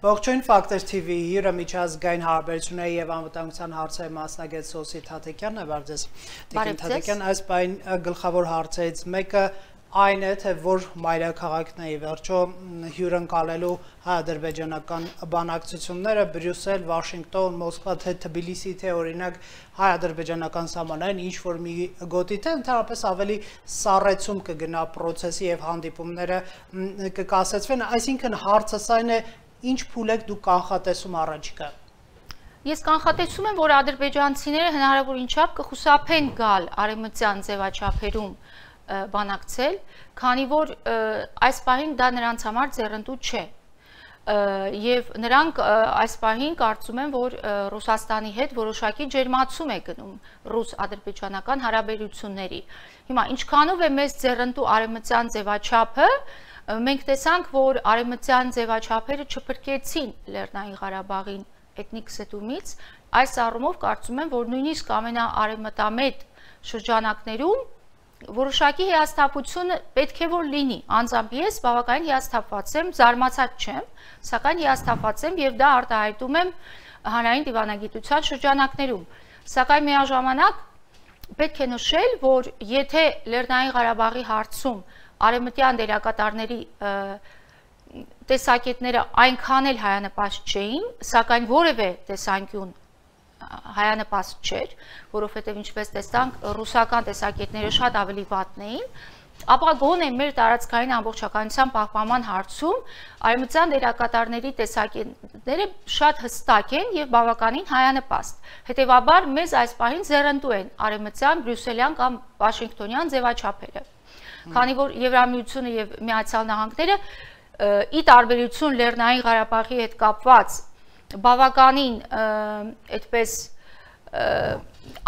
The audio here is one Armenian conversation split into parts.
Ողջույն Factor TV հյուրը միջազգային հարաբերությունների եւ անվտանգության հարցերի մասնագետ Սոսի Թաթիկյանն է, բարև ձեզ։ Տիկին Թաթիկյան, այս բան գլխավոր հարցերից մեկը այն է, թե որ մայրաքաղաքն է ի վերջո հյուրընկալելու հայ-ադրբեջանական բանակցությունները Բրյուսել, Վաշինգտոն, Մոսկվա, թե Թբիլիսի, թե օրինակ հայ-ադրբեջանական սահմանային ինչ որ մի գոտի, թե ընդհանրապես ավելի սառեցում կգնա process-ի եւ հանդիպումները կկասեցվեն, այսինքն հարցս այն է ինչ փուլ եք դուք կանխատեսում առաջիկա։ Ես կանխատեսում եմ, որ ադրբեջանցիները հնարավոր ինչապ կխուսափեն գալ արևմտյան ձևաչափերում բանակցել, քանի որ այս պահին դա նրանց համար ձեռնտու չէ։ Եվ նրանք այս պահին կարծում են, որ Ռուսաստանի հետ որոշակի ջերմացում է գնում ռուս-ադրբեջանական հարաբերությունների։ Հիմա ինչքանով է մեզ ձեռնտու արևմտյան ձևաչափը, մենք տեսանք, որ արևմտյան ձևաչափերը չփրկեցին Լեռնային Ղարաբաղին էթնիկ զտումից, այս առումով կարծում եմ, որ նույնիսկ ամենաարևմտամետ շրջանակներում որոշակի հիասթափությունը պետք է որ լինի, անձամբ ես բավականին հիասթափված եմ, զարմացած չեմ, սակայն հիասթափված եմ եւ դա արտահայտում եմ հանրային դիվանագիտության շրջանակներում, սակայն միաժամանակ պետք է նշել, որ եթե Լեռնային Ղարաբաղի հարցում արևմտյան դերակատարների տեսակետները այնքան էլ հայանպաստ չէին, սակայն որևէ տեսանկյուն հայանպաստ չէր, որովհետև ինչպես տեսանք, ռուսական տեսակետները շատ ավելի վատն էին, ապա գոնե մեր տարածքային ամբողջականության պահպանման հարցում արևմտյան դերակատարների տեսակետները շատ հստակ են եւ բավականին հայանպաստ։ Հետևաբար մեզ այս պահին ձեռնտու են արևմտյան, բրյուսելյան կամ վաշինգտոնյան ձևաչափերը։ Քանի որ Եվրամիությունը եւ Միացյալ Նահանգները ի տարբերություն Լեռնային Ղարաբաղի հետ կապված բավականին այդպես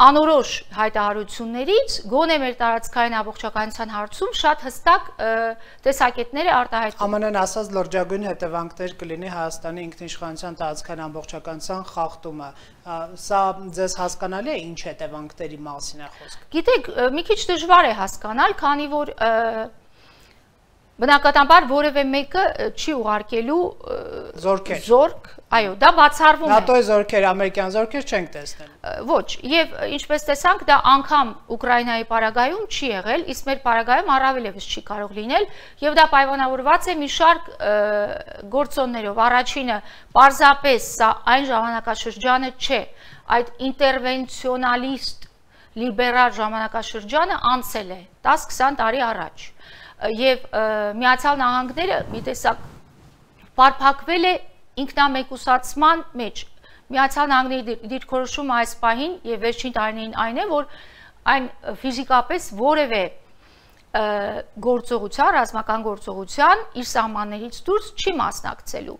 անորոշ հայտարարություններից գոնե մեր տարածքային ամբողջականության հարցում շատ հստակ տեսակետներ է արտահայտում։ ԱՄՆ-ն ասած լրջագույն հետևանքներ կլինի Հայաստանի ինքնիշխանության տարածքային ամբողջականության խախտումը։ Սա ձեզ հասկանալի է ինչ հետևանքների մասին է խոսքը։ Գիտեք, մի քիչ դժվար է հասկանալ, քանի որ բնականաբար որևէ մեկը չի ուղարկելու զորք, այո, դա բացառվում է։ ՆԱՏՕ-ի զորքեր, ամերիկյան զորքեր չենք տեսնել։ Ոչ, եւ ինչպես տեսանք, դա անգամ Ուկրաինայի պարագայում չի եղել, իսկ մեր պարագայում առավել եւս չի կարող լինել, եւ դա պայմանավորված է մի շարք գործոններով։ Առաջինը, պարզապես սա այն ժամանակաշրջանը չէ, այդ ինտերվենցիոնալիստ լիբերալ ժամանակաշրջանը անցել է 10-20 տարի առաջ։ Եվ Միացյալ Նահանգները մի տեսակ պարփակվել է ինքնամեկուսացման մեջ։ Միացյալ Նահանգների դիրքորոշումը այս պահին եւ վերջին տարիներին այն է, որ այն ֆիզիկապես որևէ գործողության, ռազմական գործողության իր սահմաններից դուրս չի մասնակցելու։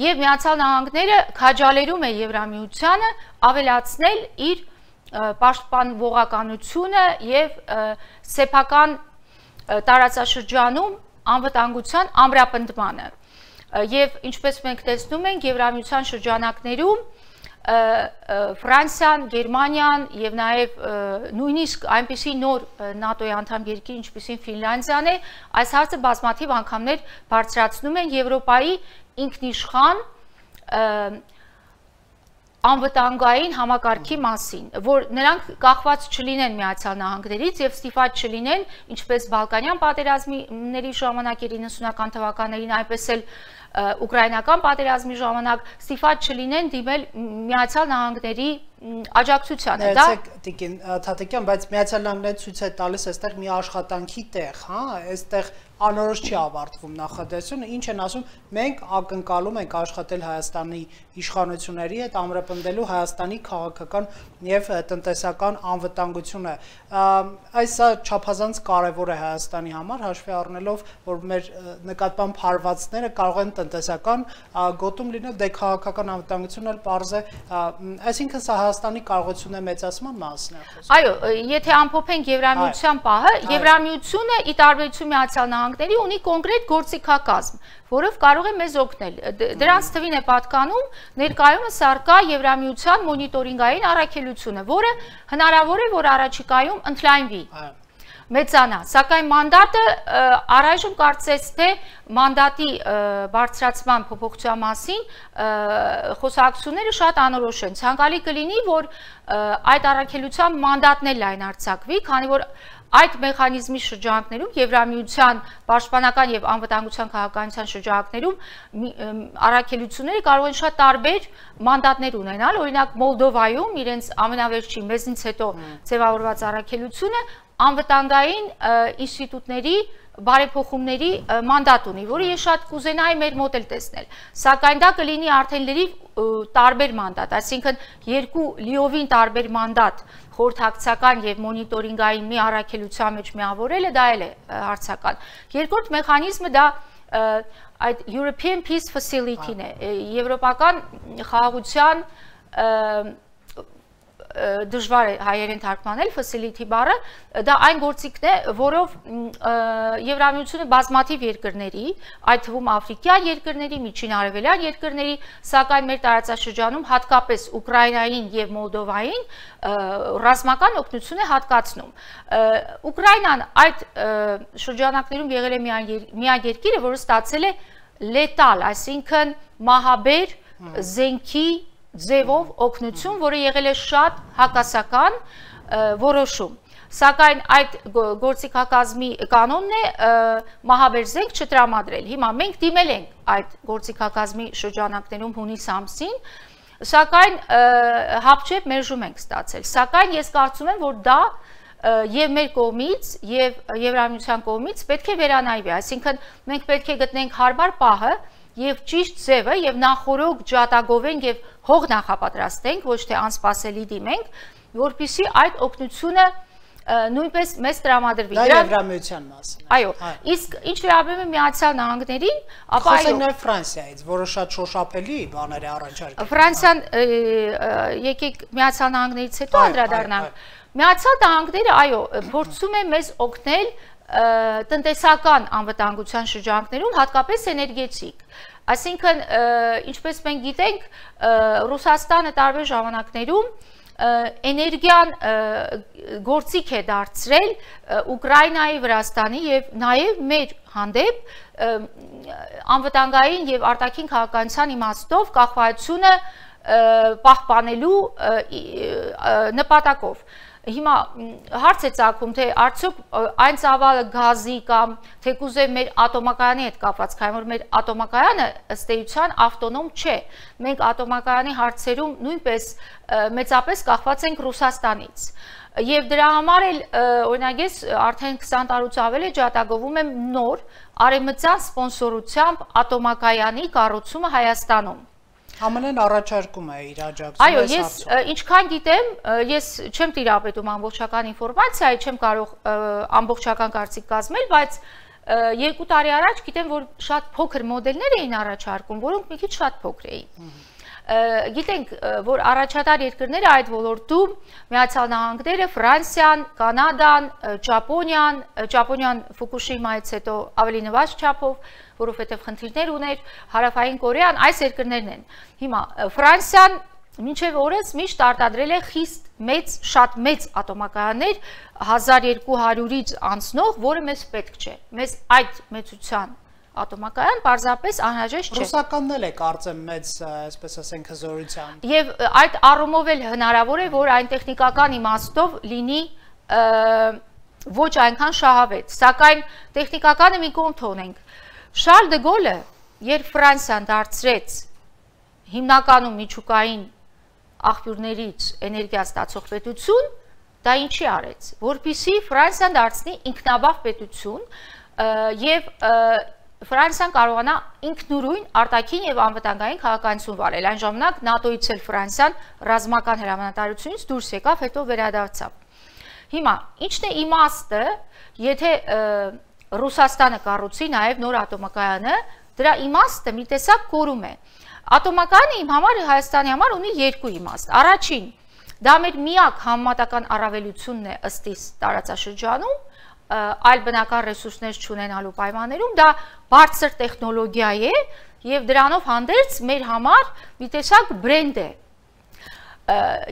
Եվ Միացյալ Նահանգները քաջալերում է Եվրամիությանը ավելացնել իր պաշտպանողականությունը եւ սեփական տարածաշրջանում անվտանգության ամրապնդմանը եւ ինչպես մենք տեսնում ենք Եվրամիության շրջանակներում Ֆրանսիան, Գերմանիան եւ նաեւ նույնիսկ այնպիսի նոր ՆԱՏՕ-ի անդամ երկիր ինչպիսին Ֆինլանդիան է այս հարցը բազմաթիվ անգամներ բարձրացնում են Եվրոպայի ինքնիշխան անվտանգային համակարգի մասին, որ նրանք կախված չլինեն Միացյալ Նահանգներից եւ ստիպված չլինեն, ինչպես Բալկանյան պատերազմների ժամանակ 90-ական թվականներին, այնպես էլ ուկրաինական պատերազմի ժամանակ ստիպված չլինեն դիմել Միացյալ Նահանգների աջակցությանը։ Դա Տիկին Թաթիկյան, բայց Միացյալ Նահանգները ցույց է տալիս այստեղ մի աշխատանքի տեղ, հա, այստեղ անորոշ չի ավարտվում նախադասությունը, ինչ են ասում, մենք ակնկալում ենք աշխատել Հայաստանի իշխանությունների հետ ամրապնդելու Հայաստանի քաղաքական եւ տնտեսական անվտանգությունը։ Այս չափազանց կարեւոր է Հայաստանի համար, հաշվի առնելով, որ մեր նկատմամբ հարվածները կարող են տնտեսական գոտում լինել, դե քաղաքական անվտանգությունն էլ պարզ է, այսինքն սա Հայաստանի կարողությունը մեծացման մասին է խոսքը։ Այո, եթե ամփոփենք Եվրամիության պահը, Եվրամիությունը ի տարբերություն Միացյալ Նահանգների ունի կոնկրետ գործիքակազմ, որով կարող է մեզ օգնել։ Դրանց թվին է պատկանում ներկայումս առկա Եվրամիության մոնիտորինգային առաքելությունը, որը հնարավոր է, որ առաջիկայում ընդլայնվի, մեծանա, սակայն մանդատը առայժմ կարծես թե մանդատի բարձրացման փոփոխության մասին խոսակցությունները շատ անորոշ են։ Ցանկալի կլինի, որ այդ առաքելության մանդատն էլ լայնարձակվի, քանի որ այդ մեխանիզմի շրջանակներում Եվրամիության պաշտպանական եւ անվտանգության քաղաքականության շրջանակներում առաքելությունները կարող են շատ տարբեր մանդատներ ունենալ, օրինակ Մոլդովայում իրենց ամենավերջին մեզնից հետո ձևավորված առաքելությունը անվտանգային ինստիտուտների բարեփոխումների մանդատ ունի, որը ես շատ կուզենայի մեր մոտ էլ տեսնել, սակայն դա կլինի արդեն լրիվ տարբեր մանդատ, այսինքն երկու լիովին տարբեր մանդատ խորհրդակցական եւ մոնիտորինգային մի առաքելության մեջ միավորելը դա էլ է հարցական։ Երկրորդ մեխանիզմը դա այդ European Peace Facility-ն է, եվրոպական խաղաղության դժվար է հայերեն թարգմանել facility բառը, դա այն գործիքն է, որով Եվրամիությունը բազմաթիվ երկրների, այդ թվում աֆրիկյան երկրների, միջին արևելյան երկրների, սակայն մեր տարածաշրջանում հատկապես Ուկրաինային եւ Մոլդովային ռազմական օգնություն է հատկացնում։ Ուկրաինան այդ շրջանակներում եղել է միակ երկիրը, որը ստացել է լետալ, այսինքն մահաբեր զենքի ձևով օգնություն, որը եղել է շատ հակասական որոշում։ Սակայն այդ գործիքակազմի կանոնն է մահաբեր զենք չտրամադրել։ Հիմա մենք դիմել ենք այդ գործիքակազմի շրջանակներում հունիս ամսին, սակայն հապճեպ մերժում ենք ստացել։ Սակայն ես կարծում եմ, որ դա եւ մեր կողմից եւ Եվրամիության կողմից պետք է վերանայվի, այսինքն մենք պետք է գտնենք հարմար պահը եւ ճիշտ ձևը եւ նախորոք ջատագովենք եւ հող նախապատրաստենք, ոչ թե անսպասելի դիմենք, որպեսզի այդ օգնությունը նույնպես մեզ տրամադրվի։ Դա Եվրամիության մասին է։ Այո, իսկ ինչ վերաբերում է Միացյալ Նահանգներին, ապա այո, խոսենք նաեւ Ֆրանսիայից, որը շատ շոշափելի բաներ է առաջարկել։ Ֆրանսիան եկեք Միացյալ Նահանգներից հետո անդրադառնանք։ Միացյալ Նահանգները, այո, փորձում է մեզ օգնել տնտեսական անվտանգության շրջանակներում, հատկապես էներգետիկ։ Այսինքն, ինչպես մենք գիտենք, Ռուսաստանը տարբեր ժամանակներում էներգիան գործիք է դարձրել Ուկրաինայի, Վրաստանի եւ նաեւ մեր հանդեպ անվտանգային եւ արտաքին քաղաքականության իմաստով կախվածությունը պահպանելու նպատակով։ Հիմա հարց է ծագում, թե արդյոք այն ծավալը գազի կամ թեկուզև մեր ատոմակայանի հետ կապված, քանի որ մեր ատոմակայանը ըստ էության ավտոնոմ չէ։ Մենք ատոմակայանի հարցերում նույնպես մեծապես կախված ենք Ռուսաստանից։ Եվ դրա համար էլ օրինակ ես արդեն 20 տարուց ավել է ջատագովում եմ նոր արևմտյան սպոնսորությամբ ատոմակայանի կառուցումը Հայաստանում։ ԱՄՆ-ն առաջարկում է իր աջակցությունը։ Այո, ես ինչքան գիտեմ, ես չեմ տիրապետում ամբողջական ինֆորմացիայի, չեմ կարող ամբողջական կարծիք կազմել, բայց 2 տարի առաջ գիտեմ, որ շատ փոքր մոդելներ էին առաջարկում, որոնք մի քիչ շատ փոքր էին։ Գիտենք, որ առաջատար երկրները այդ ոլորտում Միացյալ Նահանգները, Ֆրանսիան, Կանադան, Ճապոնիան Ֆուկուշիմայից հետո ավելի նվազ չափով, որովհետև խնդիրներ ուներ, Հարավային Կորեան, այս երկրներն են։ Հիմա Ֆրանսիան մինչև օրս միշտ արտադրել է խիստ մեծ, շատ մեծ ատոմակայաններ 1200-ից անցնող, որը մեզ պետք չէ։ Մեզ այդ մեծության ատոմակայան պարզապես անհրաժեշտ չէ։ Ռուսականն էլ է կարծեմ մեծ, այսպես ասենք, հզորությամբ։ Եվ այդ առումով էլ հնարավոր է, որ այն տեխնիկական իմաստով լինի ոչ այնքան շահավետ, սակայն տեխնիկականը մի կողմ թողնենք։ Շարլ դե Գոլը, երբ Ֆրանսիան դարձրեց հիմնականում միջուկային աղբյուրներից էներգիա ստացող պետություն, դա ինչի արեց, որպեսզի Ֆրանսիան դարձնի ինքնաբավ պետություն եւ Ֆրանսիան կարողանա ինքնուրույն արտաքին եւ անվտանգային քաղաքականություն վարել։ Այն ժամանակ ՆԱՏՕ-ից էլ Ֆրանսիան ռազմական հրամանատարությունից դուրս եկավ, հետո վերադարձավ։ Հիմա ինչն է իմաստը, եթե Ռուսաստանը կառուցի նաեւ նոր ատոմակայանը, դրա իմաստը մի տեսակ կորում է։ Ատոմակայանը իմ համար Հայաստանի համար ունի երկու իմաստ։ Առաջին, դա մեր միակ համեմատական առավելությունն է ըստ իս տարածաշրջանում, այլ բնական ռեսուրսներ չունենալու պայմաններում դա բարձր տեխնոլոգիա է եւ դրանով հանդերձ մեր համար մի տեսակ բրենդ է։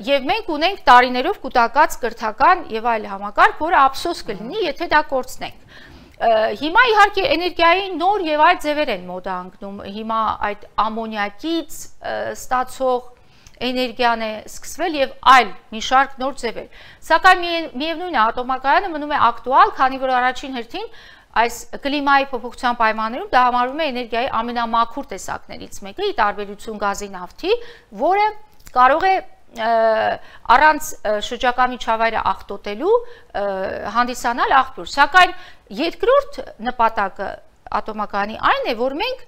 Եվ մենք ունենք տարիներով կուտակած կրթական եւ այլ համակարգ, որը ափսոս կլինի, եթե դա կորցնենք։ Հիմա իհարկե էներգիայի նոր եւ այլ ձևեր են մոդա անկնում։ Հիմա այդ ամոնիակից ստացող էներգիան է սկսվել եւ այլ մի շարք նոր ձևեր։ Սակայն միևնույն է, ատոմակայանը մնում է ակտուալ, քանի որ առաջին հերթին այս կլիմայի փոփոխության պայմաններում դա համարվում է էներգիայի ամենամաքուր տեսակներից մեկը, ի տարբերություն գազի, նավթի, որը կարող է առանց շրջակա միջավայրը աղտոտելու հանդիսանալ աղբյուր։ Սակայն երկրորդ նպատակը ատոմակայանի այն է, որ մենք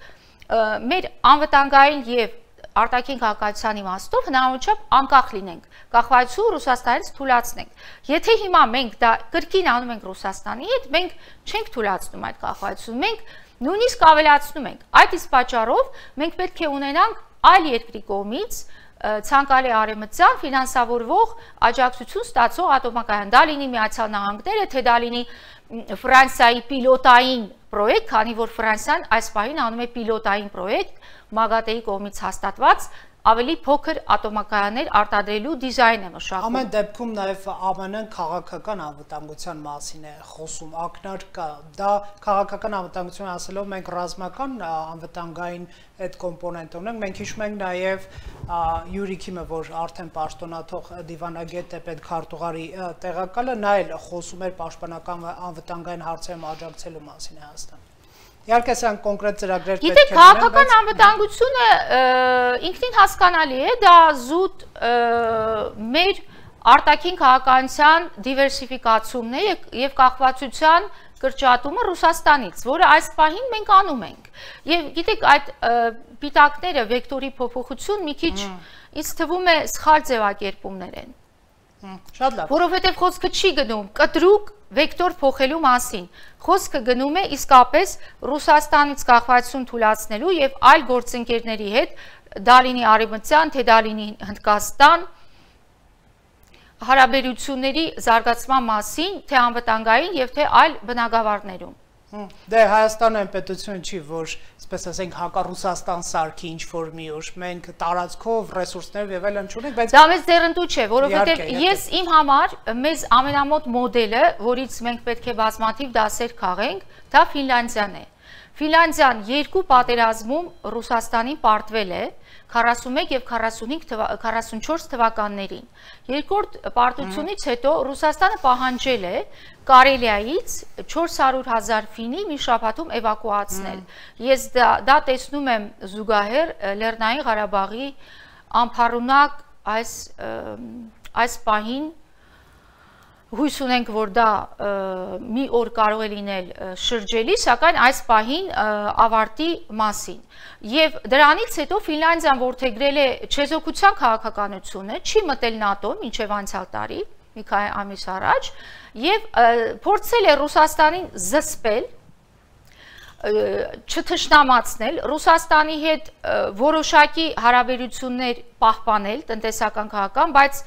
մեր անվտանգային եւ արտաքին քաղաքացիության իմաստով հնարավորինչափ անկախ լինենք, կախվածություն Ռուսաստանից թույլատնենք։ Եթե հիմա մենք դա կրկին անում ենք Ռուսաստանի հետ, մենք չենք թույլատնում այդ կախվածությունը, մենք նույնիսկ ավելացնում ենք։ Այդ իսկ պատճառով մենք պետք է ունենանք այլ երկրի կողմից ցանկալի արևմտյան ֆինանսավորվող աջակցություն ստացող ատոմակայան, դա լինի Միացյալ Նահանգները, թե դա լինի Ֆրանսիայի պիլոտային պրոյեկտ, քանի որ Ֆրանսիան այս պահին անում է պիլոտային պրոյեկտ ՄԱԳԱՏԵ-ի կողմից հաստատված ավելի փոքր ատոմակայաններ արտադրելու դիզայն է մշակում։ Ամեն դեպքում նաև ԱՄՆ-ն քաղաքական անվտանգության մասին է խոսում, ակնարկա, դա քաղաքական անվտանգություն ասելով մենք ռազմական անվտանգային այդ կոմպոնենտ ունենք, մենք հիշում ենք նաև Յուրի Քիմը, որ արդեն պաշտոնաթող դիվանագետ է պետքարտուղարի տեղակալը, նա էլ խոսում էր պաշտպանական անվտանգային հարցերում աջակցելու մասին է Հայաստան։ Իհարկե սան կոնկրետ ծրագրեր պետք է լինեն, քաղաքական անվտանգությունը ինքնին հասկանալի է, դա զուտ մեր արտաքին քաղաքականության դիվերսիֆիկացումն է եւ կախվածության կրճատումը Ռուսաստանից, որը այս պահին մենք անում ենք։ Եվ գիտեք, այդ պիտակները վեկտորի փոփոխություն մի քիչ ինձ թվում է սխալ ձևակերպումներ են։ Շատ լավ։ Որովհետև խոսքը չի գնում կտրուկ վեկտոր փոխելու մասին, խոսքը գնում է իսկապես Ռուսաստանից կախվածություն թույլատնելու եւ այլ գործընկերների հետ, դա լինի Արևմտյան, թե դա լինի Հնդկաստան, հարաբերությունների զարգացման մասին, թե անվտանգային եւ թե այլ բնագավառներում։ Դե Հայաստանը պետություն չի, որ, ասես ասենք, հակառուսաստան սարքի ինչ-որ մի օր, մենք տարածքով, ռեսուրսներով եւ այլն չունենք, բայց դա մեզ ձեռնտու չէ, որովհետեւ ես իմ համար մեզ ամենամոտ մոդելը, որից մենք պետք է բազմաթիվ դասեր քաղենք, դա Ֆինլանդիան է։ Ֆինլանդիան երկու պատերազմում Ռուսաստանին պարտվել է 41 եւ 44 թվականներին։ Երկրորդ պարտությունից հետո Ռուսաստանը պահանջել է Կարելիայից 400,000 ֆինի մի շաբաթում էվակուացնել։ Ես դա տեսնում եմ զուգահեռ Լեռնային Ղարաբաղի անփառունակ այս պահին հույս ունենք, որ դա մի օր կարող է լինել շրջելի, սակայն այս պահին ավարտի մասին։ Եվ դրանից հետո Ֆինլանդիան որդեգրել է չեզոքության քաղաքականությունը, չի մտել ՆԱՏՕ մինչև անցյալ տարի, մի քանի ամիս առաջ, եւ փորձել է Ռուսաստանին զսպել, չթշնամացնել, Ռուսաստանի հետ որոշակի հարաբերություններ պահպանել, տնտեսական քաղաքական, բայց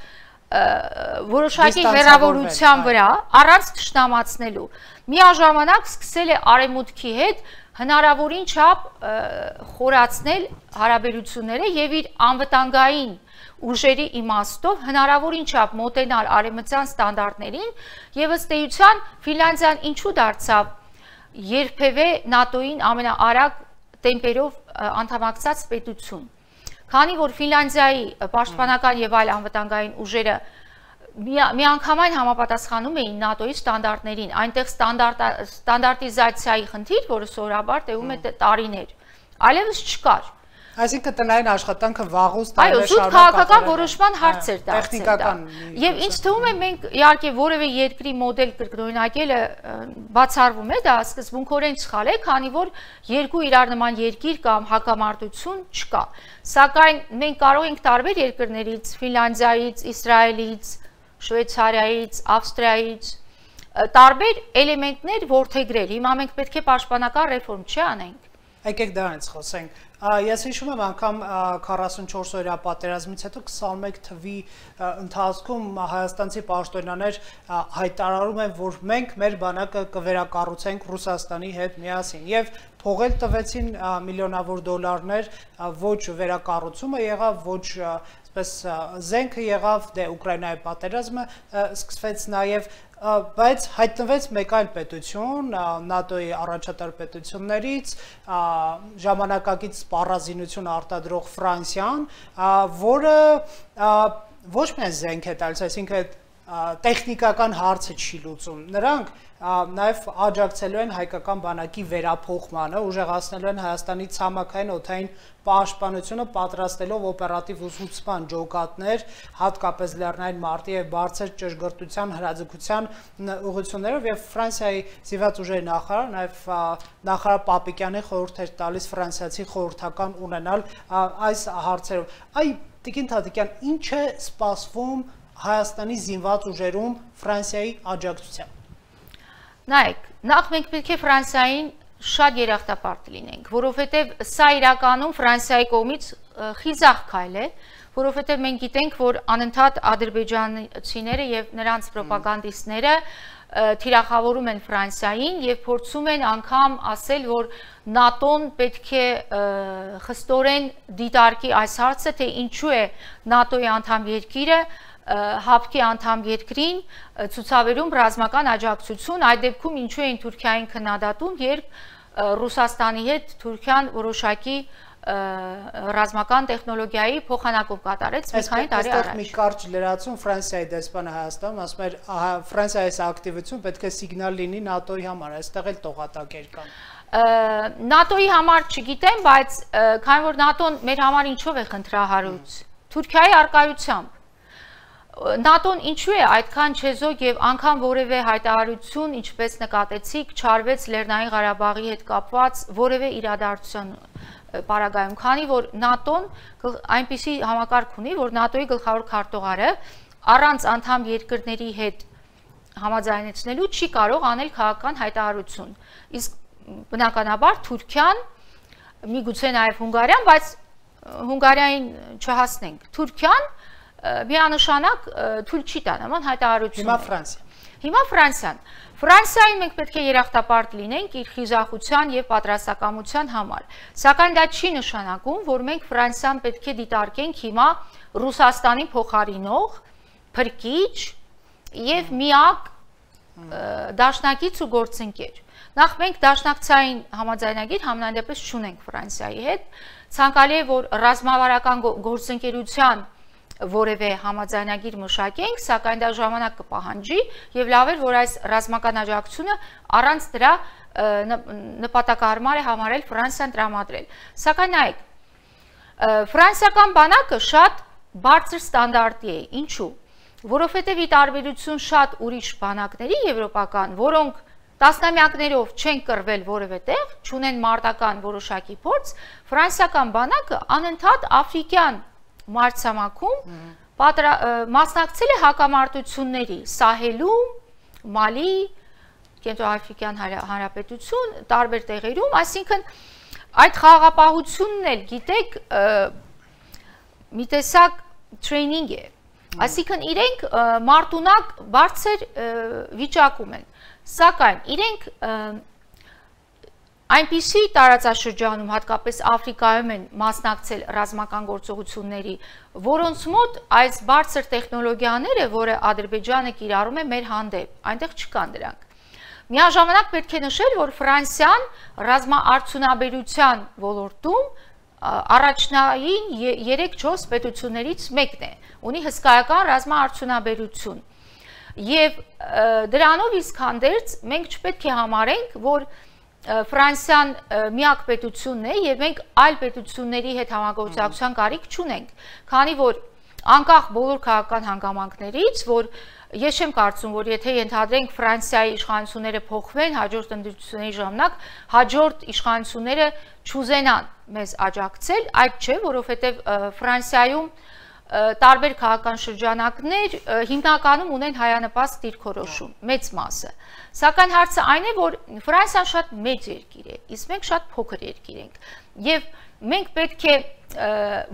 որոշակի հեռավորության վրա առանց թշնամացնելու միաժամանակ սկսել է արևմուտքի հետ հնարավորին չափ խորացնել հարաբերությունները եւ իր անվտանգային ուժերի իմաստով հնարավորին չափ մոտենալ արևմտյան ստանդարտներին եւ ըստ էության Ֆինլանդիան ինչու դարձավ երբևէ ՆԱՏՕ-ին ամենաարագ տեմպերով անդամակցած պետություն։ Քանի որ Ֆինլանդիայի պաշտպանական եւ այլ անվտանգային ուժերը միանգամայն համապատասխանում էին ՆԱՏՕ-ի ստանդարտներին, այնտեղ ստանդարտիզացիայի խնդիր, որը սովորաբար տևում է տարիներ, այլևս չկար։ Այսինքն տնային աշխատանքը վաղուց տարիներ շարունակ քաղաքական որոշման հարց էր դարձել։ Եվ ինձ թվում է մենք իհարկե որևէ երկրի մոդել կրկնօրինակելը բացառվում է, դա սկզբունքորեն սխալ է, քանի որ երկու իրար նման երկիր կամ հակամարտություն չկա։ Սակայն մենք կարող ենք տարբեր երկրներից, Ֆինլանդիայից, Իսրայելից, Շվեյցարիայից, Ավստրիայից տարբեր էլեմենտներ որդեգրել։ Հիմա մենք պետք է պաշտպանական ռեֆորմ չի անենք։ Եկեք դրանից խոսենք։ Ես հիշում եմ անգամ 44 օրյա պատերազմից հետո 21 թվի ընթացքում հայաստանցի պաշտոնյաներ հայտարարում են, որ մենք մեր բանակը կվերակառուցենք Ռուսաստանի հետ միասին եւ փողել տվեցին միլիոնավոր դոլարներ, ոչ վերակառուցումը եղավ, ոչ զենքը եղավ, դե Ուկրաինայի պատերազմը սկսվեց նաև, բայց հայտնվեց մեկ այլ պետություն, ՆԱՏՕ-ի առաջատար պետություններից, ժամանակակից սպառազինություն արտադրող Ֆրանսիան, որը ոչ միայն զենք է տալիս, այսինքն տեխնիկական հարցը չի լուծում, նրանք նաև աջակցելու են հայկական բանակի վերափոխմանը, ուժեղացնելու են Հայաստանի ցամաքային օդային պաշտպանությունը, պատրաստելով օպերատիվ ուսուցման ջոկատներ, հատկապես լեռնային մարտի եւ բարձր ճշգրտության հրաձգության ուղղություններով եւ Ֆրանսիայի զինված ուժերի նախարար, նաև նախարար Պապիկյանի խորհուրդ էր տալիս ֆրանսիացի խորհրդական ունենալ այս հարցերով։ Այ Տիկին Թադիկյան, ինչ է սպասվում Հայաստանի զինված ուժերում Ֆրանսիայի աջակցությամբ։ Նայեք, նախ մենք պետք է Ֆրանսիային շատ երախտապարտ լինենք, որովհետև սա իրականում Ֆրանսիայի կողմից խիզախ քայլ է, որովհետև մենք գիտենք, որ անընդհատ ադրբեջանցիները եւ նրանց ռոպագանդիստները թիրախավորում են Ֆրանսիային եւ փորձում են անգամ ասել, որ ՆԱՏՕ-ն պետք է խստորեն դիտարկի այս հարցը, թե ինչու է ՆԱՏՕ-ի անդամ երկիրը հապկի անդամ երկրին ցուցաբերում ռազմական աջակցություն, այդ դեպքում ինչու էին Թուրքիային քննադատում, երբ Ռուսաստանի հետ Թուրքիան որոշակի ռազմական տեխնոլոգիայի փոխանակում կատարեց մի քանի տարի առաջ։ Այստեղ մի կարճ լրացում Ֆրանսիայի դեսպանը Հայաստանում ասում էր, Ֆրանսիայի ակտիվություն պետք է սիգնալ լինի ՆԱՏՕ-ի համար, այստեղ էլ տողատակեր կան։ ՆԱՏՕ-ի համար չգիտեմ, բայց քանի որ ՆԱՏՕ-ն մեր համար ինչով է խնդրահարույց, Թուրքիայի առկայությամբ ՆԱՏՕ-ն ինչու է այդքան չեզոք եւ անգամ որևէ հայտարարություն, ինչպես նկատեցիք, չարվեց Լեռնային Ղարաբաղի հետ կապված որևէ իրադարձություն պարագայում, քանի որ ՆԱՏՕ-ն այնպիսի համակարգ ունի, որ ՆԱՏՕ-ի գլխավոր քարտուղարը առանց անդամ երկրների հետ համաձայնեցնելու չի կարող անել քաղաքական հայտարարություն։ Իսկ բնականաբար Թուրքիան, միգուցե նաեւ Հունգարիան, բայց Հունգարիային չհասնենք, Թուրքիան միանշանակ թույլ չի տա նման հայտարարություն։ Հիմա Ֆրանսիան։ Ֆրանսիային մենք պետք է երախտապարտ լինենք իր խիզախության եւ պատրաստակամության համար։ Սակայն դա չի նշանակում, որ մենք Ֆրանսիան պետք է դիտարկենք հիմա Ռուսաստանի փոխարինող, փրկիչ եւ միակ դաշնակից ու գործընկեր։ Նախ մենք դաշնակցային համաձայնագիր համենայնդեպս չունենք Ֆրանսիայի հետ։ Ցանկալի է, որ ռազմավարական գործընկերության որևէ համաձայնագիր մշակենք, սակայն դա ժամանակ կպահանջի եւ լավ է, որ այս ռազմական աջակցությունը առանց դրա նպատակահարմար է համարել Ֆրանսիան տրամադրել։ Սակայն նայեք, ֆրանսիական բանակը շատ բարձր ստանդարտի է, ինչու՞։ Որովհետեւ ի տարբերություն շատ ուրիշ բանակների եվրոպական, որոնք տասնամյակներով չեն կռվել որևէ տեղ, չունեն մարտական որոշակի փորձ, ֆրանսիական բանակը անընդհատ աֆրիկյան մարտցամաքում մասնակցել է հակամարտությունների Սահելում, Մալի, Կենտրոնաֆրիկյան Հանրապետություն, տարբեր տեղերում, այսինքն այդ խաղաղապահությունն էլ գիտեք մի տեսակ տրեյնինգ է, այսինքն իրենք մարտունակ բարձր վիճակում են, սակայն իրենք այնպիսի տարածաշրջանում, հատկապես Աֆրիկայում են մասնակցել ռազմական գործողությունների, որոնց մոտ այս բարձր տեխնոլոգիաները, որը Ադրբեջանը կիրառում է մեր հանդեպ, այնտեղ չկան դրանք։ Միաժամանակ պետք է նշել, որ Ֆրանսիան ռազմաարդյունաբերության ոլորտում առաջնային 3-4 պետություններից մեկն է, ունի հսկայական ռազմաարդյունաբերություն։ Եվ դրանով իսկ հանդերձ մենք չպետք է համարենք, որ Ֆրանսիան միակ պետությունն է եւ մենք այլ պետությունների հետ համագործակցության կարիք չունենք, քանի որ անկախ բոլոր քաղաքական հանգամանքներից, որ ես չեմ կարծում, որ եթե ենթադրենք Ֆրանսիայի իշխանությունները փոխվեն հաջորդ ընտրությունների ժամանակ, հաջորդ իշխանությունները չուզենան մեզ աջակցել, այդ չէ, որովհետեւ Ֆրանսիայում տարբեր քաղաքական շրջանակներ հիմնականում ունեն հայանպաստ դիրքորոշում, մեծ մասը։ Սակայն հարցը այն է, որ Ֆրանսիան շատ մեծ երկիր է, իսկ մենք շատ փոքր երկիր ենք։ Եվ մենք պետք է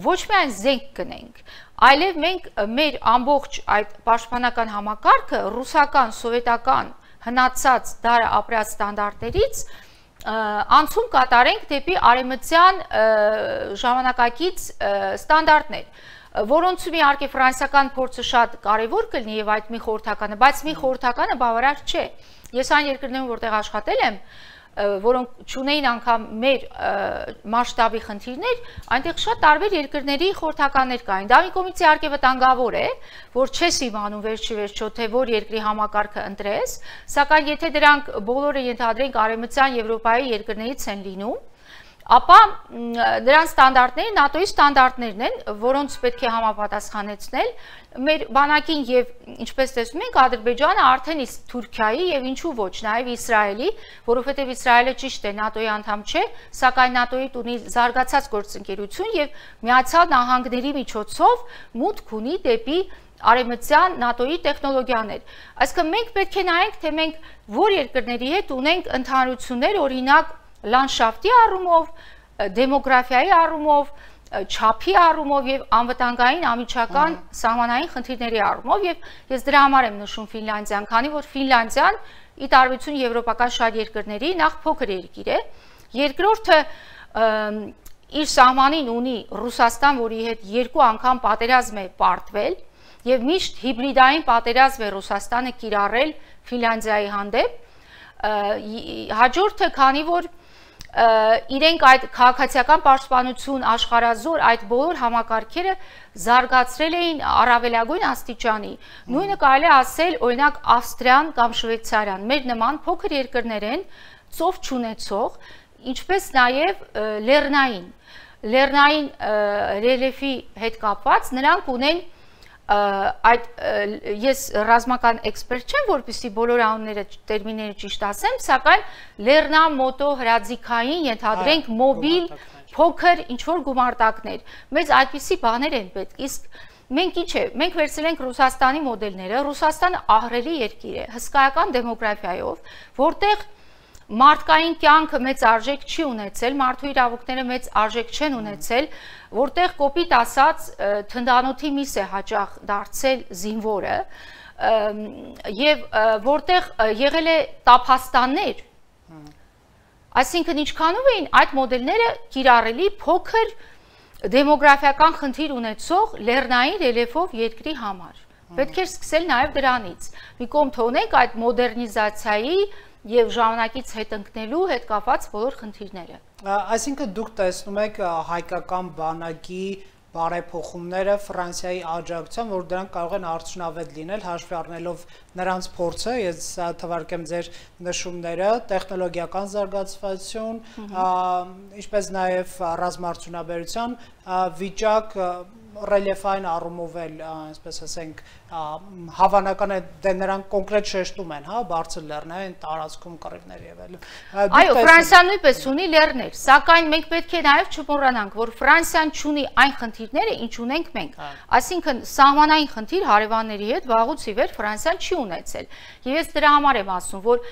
ոչ միայն զենք գնենք, այլև մենք մեր ամբողջ այդ պաշտպանական համակարգը ռուսական, սովետական հնացած դարը ապրած ստանդարտներից անցում կատարենք դեպի արևմտյան ժամանակակից ստանդարտներ, որոնցում իհարկե ֆրանսիական փորձը շատ կարևոր կլինի եւ այդ մի խորհրդականը, բայց մի խորհրդականը բավարար չէ։ Ես այն երկրներում, որտեղ աշխատել եմ, որոնք չունեին անգամ մեր մասշտաբի խնդիրներ, այնտեղ շատ տարբեր երկրների խորհրդականներ կային։ Դա մի կողմից իհարկե վտանգավոր է, որ չես իմանում վերջի վերջո, թե որ երկրի համակարգը ընտրես, սակայն եթե դրանք բոլորը ենթադրենք արևմտյան Եվրոպայի երկրներից են լինում, ապա դրանց ստանդարտները ՆԱՏՕ-ի ստանդարտներն են, որոնց պետք է համապատասխանեցնել մեր բանակին եւ ինչպես տեսնում ենք Ադրբեջանը արդեն իսկ Թուրքիայի եւ ինչու ոչ նաեւ Իսրայելի, որովհետեւ Իսրայելը ճիշտ է ՆԱՏՕ-ի անդամ չէ, սակայն ՆԱՏՕ-ի ունի զարգացած գործընկերություն եւ Միացյալ Նահանգների միջոցով մուտք ունի դեպի արևմտյան ՆԱՏՕ-ի տեխնոլոգիաներ։ Այսինքն մենք պետք է նայենք, թե մենք որ երկրների հետ ունենք ընդհանրություններ, օրինակ լանդշաֆտի առումով, դեմոգրաֆիայի առումով, չափի առումով եւ անվտանգային ամիջական սահմանային խնդիրների առումով եւ ես դրա համար եմ նշում Ֆինլանդիան, քանի որ Ֆինլանդիան ի տարբերություն եվրոպական շատ երկրների նախ փոքր երկիր է, երկրորդը իր սահմանին ունի Ռուսաստան, որի հետ երկու անգամ պատերազմ է պարտվել եւ միշտ հիբրիդային պատերազմ է Ռուսաստանը կիրառել Ֆինլանդիայի հանդեպ, հաջորդը քանի որ իրենք այդ քաղաքացիական պաշտպանություն աշխարհազոր այդ բոլոր համակարգերը զարգացրել էին առավելագույն աստիճանի։ Նույնը կարելի է ասել օրինակ Ավստրիան կամ Շվեյցարիան, մեր նման փոքր երկրներ են, ծով չունեցող, ինչպես նաև լեռնային ռելիեֆի հետ կապված, նրանք ունեն այդ ես ռազմական էքսպերտ չեմ, որպեսզի բոլոր անունները տերմինները ճիշտ ասեմ, սակայն լեռնամոտո հրաձիգային ենթադրենք մոբիլ փոքր ինչ-որ գումարտակներ։ Մեզ այդպիսի բաներ են պետք, իսկ մենք ինչ է, մենք վերցրել ենք Ռուսաստանի մոդելները, Ռուսաստանը ահռելի երկիր է, հսկայական դեմոգրաֆիայով, որտեղ մարդկային կյանքը մեծ արժեք չի ունեցել, մարդու իրավունքները մեծ արժեք չեն ունեցել, որտեղ կոպիտ ասած թնդանոթի միս է հաճախ դարձել զինվորը եւ որտեղ եղել է տափաստաններ, այսինքն ինչքանով էին այդ մոդելները կիրառելի փոքր դեմոգրաֆիական խնդիր ունեցող լեռնային ռելիեֆով երկրի համար։ Պետք է սկսել նաեւ դրանից։ Մի կողմ թողնենք այդ մոդեռնիզացիայի եւ ժամանակից հետ ընկնելու հետ կապված բոլոր խնդիրները։ Այսինքն դուք տեսնում եք հայկական բանակի բարեփոխումները Ֆրանսիայի աջակցությամբ, որ դրանք կարող են արդյունավետ լինել, հաշվի առնելով նրանց փորձը, ես թվարկեմ ձեր նշումները, տեխնոլոգիական զարգացվածություն, ինչպես նաև ռազմաարդյունաբերության վիճակ ռելիեֆային առումով էլ, այսպես ասենք, հավանական է դե նրանք կոնկրետ շեշտում են, հա, բարձր լեռնային տարածքում կռիվներ եւ այլն։ Այո, Ֆրանսիան նույնպես ունի լեռներ, սակայն մենք պետք է նաեւ չմոռանանք, որ Ֆրանսիան ունի այն խնդիրները, ինչ ունենք մենք։ Այսինքն սահմանային խնդիր հարևանների հետ վաղուց ի վեր Ֆրանսիան չի ունեցել։ Եվ ես դրա համար եմ ասում, որ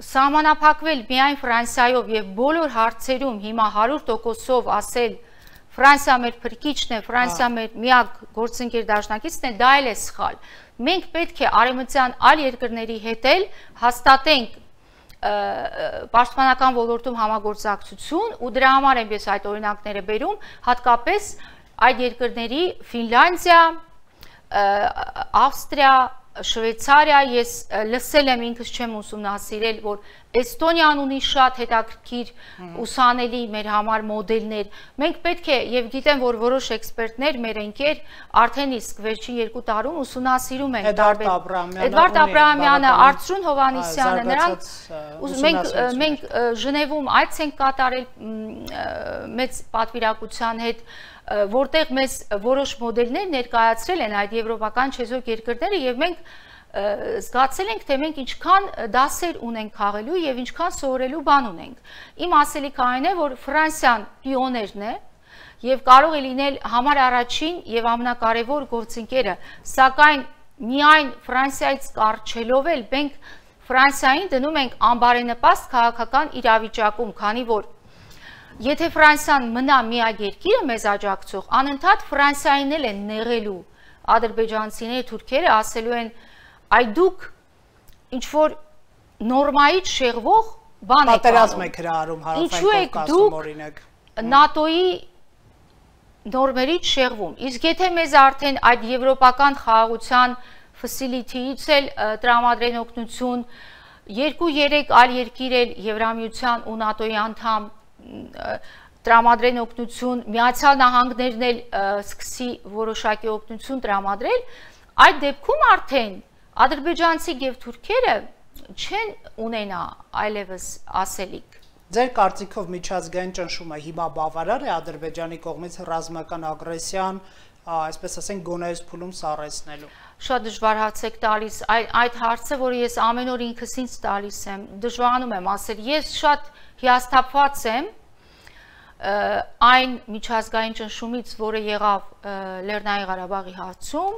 սահմանափակվել միայն Ֆրանսիայով եւ բոլոր հարցերում հիմա 100%-ով ասել Ֆրանսիա մեր փրկիչն է, Ֆրանսիա մեր միակ գործընկեր դաշնակիցն է, դա էլ է սխալ։ Մենք պետք է արևմտյան այլ երկրների հետ էլ հաստատենք պաշտպանական ոլորտում համագործակցություն ու դրա համար եմ ես այդ օրինակները բերում, հատկապես այդ երկրների Ֆինլանդիա, Ավստրիա, Շվեյցարիա, ես լսել եմ, ինքս չեմ ուսումնասիրել, որ Էստոնիան ունի շատ հետաքրքիր ուսանելի մեր համար մոդելներ։ Մենք պետք է, եւ գիտեմ, որ որոշ էքսպերտներ, մեր ընկեր արդեն իսկ վերջին 2 տարում ուսումնասիրում են Էդվարդ Աբրահամյանը, Արծրուն Հովհաննիսյանը, նրանք մենք Ժնևում այց ենք կատարել մեծ պատվիրակության հետ, որտեղ մեզ որոշ մոդելներ ներկայացրել են այդ եվրոպական չեզոք երկրները եւ մենք զգացել ենք, թե մենք ինչքան դասեր ունենք քաղելու եւ ինչքան սովորելու բան ունենք։ Իմ ասելիքը այն է, որ Ֆրանսիան պիոներն է եւ կարող է լինել համար առաջին եւ ամենակարևոր գործընկերը, սակայն միայն Ֆրանսիայից կարճելով էլ մենք Ֆրանսիային դնում ենք անբարենպաստ քաղաքական իրավիճակում, քանի որ եթե Ֆրանսիան մնա միակ երկիրը մեզ աջակցող, անընդհատ Ֆրանսիային էլ են նեղելու ադրբեջանցիները, թուրքերը, ասելու են այ դուք ինչ որ նորմայից շեղվող բան եք պատերազմ եք հրահարում Հարավային Կովկասում օրինակ ՆԱՏՕ-ի նորմերից շեղվում։ Իսկ եթե մեզ արդեն այդ եվրոպական խաղաղության facility-ից էլ տրամադրեն օգնություն, 2-3 այլ երկիր էլ Եվրամիության ու ՆԱՏՕ-ի անդամ տրամադրեն օգնություն, Միացյալ Նահանգներն էլ սկսի որոշակի օգնություն տրամադրել, այդ դեպքում արդեն ադրբեջանցի եւ թուրքերը չեն ունենա այլևս ասելիք։ Ձեր կարծիքով միջազգային ճնշումը հիմա բավարար է Ադրբեջանի կողմից ռազմական ագրեսիան, այսպես ասենք, գոնեզ փուլում սառեցնելու։ Շատ դժվար հարց եք տալիս, այդ հարցը, որը ես ամեն օր ինքս ինձ տալիս եմ, դժվարանում եմ ասել, ես շատ հիասթափված եմ այն միջազգային ճնշումից, որը եղավ Լեռնային Ղարաբաղի հարցում,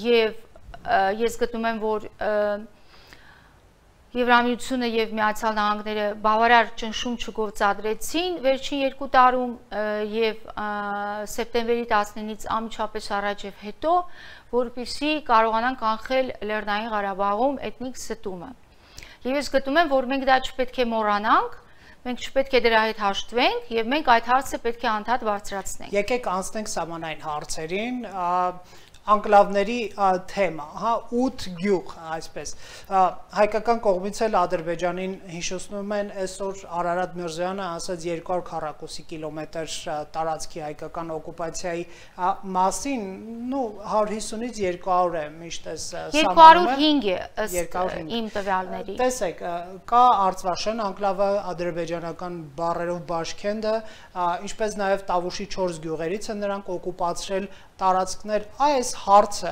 եւ ես գտնում եմ, որ Եվրամիությունը եւ Միացյալ Նահանգները բավարար ճնշում չգործադրեցին վերջին 2 տարում եւ սեպտեմբերի 19-ից անմիջապես առաջ եւ հետո, որպեսզի կարողանան կանխել Լեռնային Ղարաբաղում էթնիկ ստումը։ Եվ ես գտնում եմ, որ մենք դա չպետք է մոռանանք, մենք չպետք է դրա հետ հաշտվենք եւ մենք այդ հարցը պետք է անդադ բարձրացնենք։ Եկեք անցնենք սահմանային հարցերին, անկլավների թեմա, հա 8 գյուղ, այսպես, հայկական կողմից էլ Ադրբեջանին հիշեցնում են այսօր Արարատ Միրզոյանը ասաց 200 քառակուսի կիլոմետր տարածքի հայկական օկուպացիայի մասին, նու 150-ից 200 է միշտ էս սահմանում է 205 իմ տվյալների։ Տեսեք, կա Արցվաշեն անկլավը, ադրբեջանական բառերով Բաշքենդը, ինչպես նաև Տավուշի 4 գյուղերից են նրանք օկուպացրել տարածքներ, այս հարցը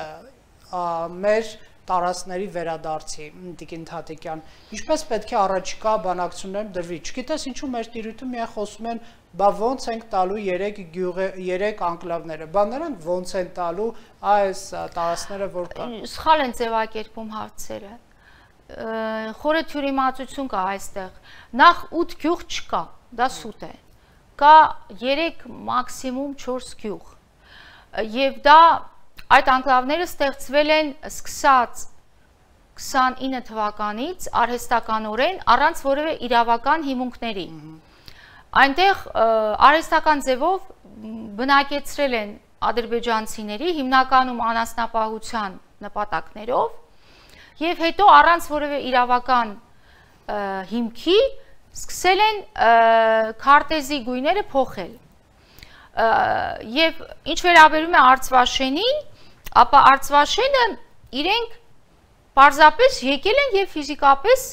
մեր տարածքների վերադարձի Տիկին Թաթիկյան, ինչպես պետք է առաջիկա բանակցություններում դրվի, չգիտես ինչու մեր տիրույթում միայն խոսում են, բա ոնց ենք տալու 3 անկլավները, բա նրանք ոնց են տալու այս տարածքները, որ կան։ Սխալ են ձևակերպում հարցերը, խորը թյուրիմացություն կա այստեղ, նախ 8 գյուղ չկա, դա սուտ է, կա 3 մաքսիմում 4 գյուղ, եւ դա այդ անկլավները ստեղծվել են սկսած 29 թվականից արհեստականորեն առանց որևէ իրավական հիմունքների։ Այնտեղ արհեստական ձևով բնակեցրել են ադրբեջանցիների հիմնականում անասնապահության նպատակներով եւ հետո առանց որևէ իրավական հիմքի սկսել են քարտեզի գույները փոխել։ Եվ ինչ վերաբերում է Արցվաշենին, ապա Արցվաշենը իրենք պարզապես եկել են եւ ֆիզիկապես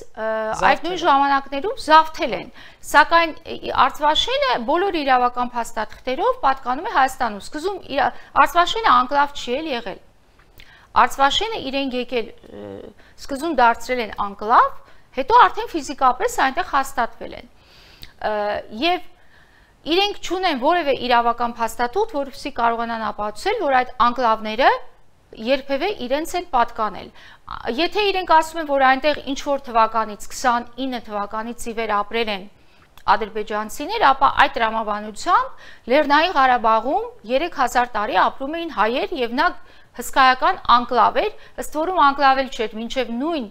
այդ նույն ժամանակներում զավթել են, սակայն Արցվաշենը բոլոր իրավական փաստաթղթերով պատկանում է Հայաստանում, սկզբում Արցվաշենը անկլավ չի եղել, Արցվաշենը իրենք եկել, սկզբում դարձրել են անկլավ, հետո արդեն ֆիզիկապես այնտեղ հաստատվել են եւ իրենք չունեն որևէ իրավական փաստաթուղթ, որովհետեւ կարողանան ապացուցել, որ այդ անկլավները երբևէ իրենց են պատկանել։ Եթե իրենք ասում են, որ այնտեղ ինչ որ թվականից 29 թվականից ի վեր ապրել են ադրբեջանցիներ, ապա այդ տրամաբանությամբ Լեռնային Ղարաբաղում 3000 տարի ապրում էին հայեր եւ նա հսկայական անկլավ էր, ըստ որում անկլավ էլ չէր, մինչեւ նույն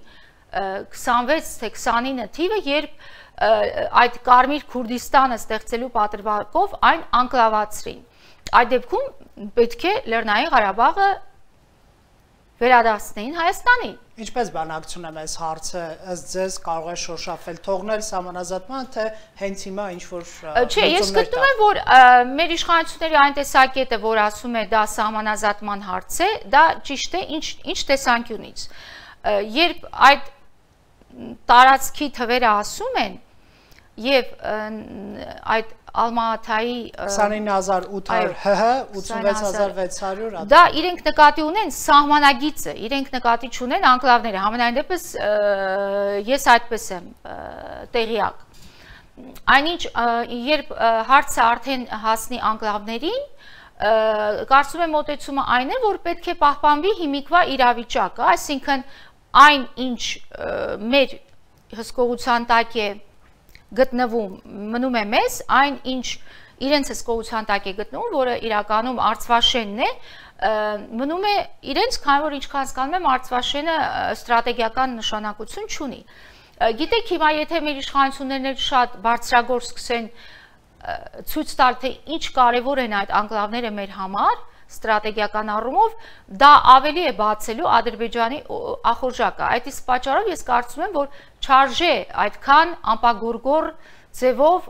26 թե 29 թիվը, երբ այդ Կարմիր Քուրդիստանը ստեղծելու պատրվակով այն անկլավացրին։ Այդ դեպքում պետք է Լեռնային Ղարաբաղը վերադարձնեին Հայաստանին։ Ինչպես բանակցում եմ այս հարցը, ըստ ձեզ կարող է շոշափել, թողնել սահմանազատման, թե հենց հիմա ինչ որ Չէ, ես գտնում եմ, որ մեր իշխանությունների այն տեսակետը, որ ասում է դա սահմանազատման հարց է, դա ճիշտ է, ինչ տեսանկյունից։ Երբ այդ տարածքի թվերը ասում են եւ այդ Ալմատայի 29800 ՀՀ 86600 դա իրենք նկատի ունեն սահմանագիծը, իրենք նկատի չունեն անկլավները, համենայն դեպս ես այդպես եմ տեղյակ։ այնինչ երբ հարցը արդեն հասնի անկլավներին, կարծում եմ մոտեցումը այն է, որ պետք է պահպանվի հիմիկվա իրավիճակը, այսինքն այն ինչ մեր հսկողության տակ է գտնվում, մնում է մեզ, այն ինչ իրենց հսկողության տակ է գտնվում, որը իրականում Արցվաշենն է, մնում է իրենց, քանի որ ինչքան հասկանում եմ, Արցվաշենը ստրատեգիական նշանակություն չունի։ Գիտեք, հիմա եթե մեր իշխանություններն շատ բարձրագործ սկսեն ցույց տալ, թե ինչ կարևոր են այդ անկլավները մեր համար, ստրատեգիական առումով, դա ավելի է բացելու Ադրբեջանի ախորժակը։ Այդ իսկ պատճառով ես կարծում եմ, որ չարժե այդքան անպագորգոր ձևով